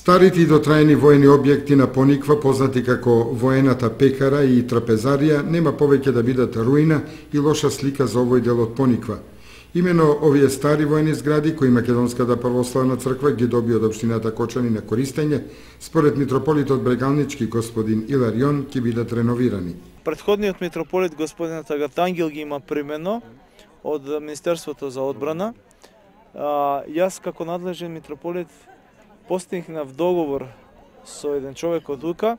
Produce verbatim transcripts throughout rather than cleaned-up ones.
Старите и дотраени воени објекти на Пониква, познати како воената пекара и трапезарија, нема повеќе да бидат руина и лоша слика за овој дел од Пониква. Имено овие стари воени згради, кои Македонската православна црква ги доби од општината Кочани на користење, според митрополитот Брегалнички господин Иларион, ќе бидат реновирани. Претходниот митрополит господин Тагартангел ги има примено од Министерството за одбрана. Јас како надлежен митрополит постигнав договор со еден човек од Лука,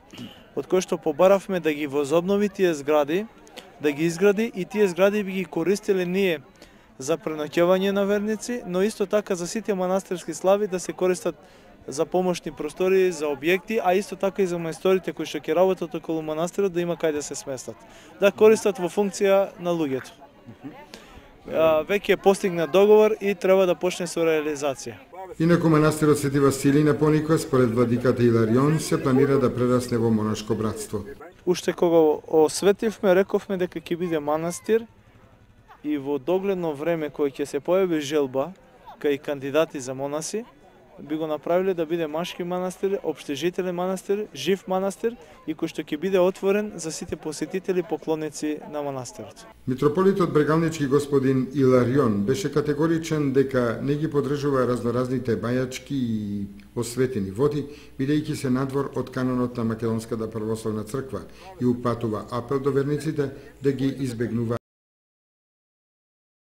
од кој што побаравме да ги возобнови тие згради, да ги изгради и тие згради би ги користеле ние за преноќевање на верници, но исто така за сите манастирски слави да се користат за помошни простори, за објекти, а исто така и за мајсторите кои што ќе работат околу манастирот да има кај да се сместат, да користат во функција на луѓето. Веќе е постигнат договор и треба да почне со реализација. Инаку манастирот Свети Василий на Пониква, според владиката Иларион, се планира да прерасне во монашко братство. Уште кога осветивме, рековме дека ќе биде манастир и во догледно време кој ќе се појави желба кај кандидати за монаси, би го направиле да биде машки манастир, општежителен манастир, жив манастир и кој што ќе биде отворен за сите посетители поклонници на манастирот. Митрополитот Брегалнички господин Иларион беше категоричен дека не ги поддржува разноразните бајачки и осветени води, бидејќи се надвор од канонот на Македонската православна црква и упатува апел до верниците да ги избегнува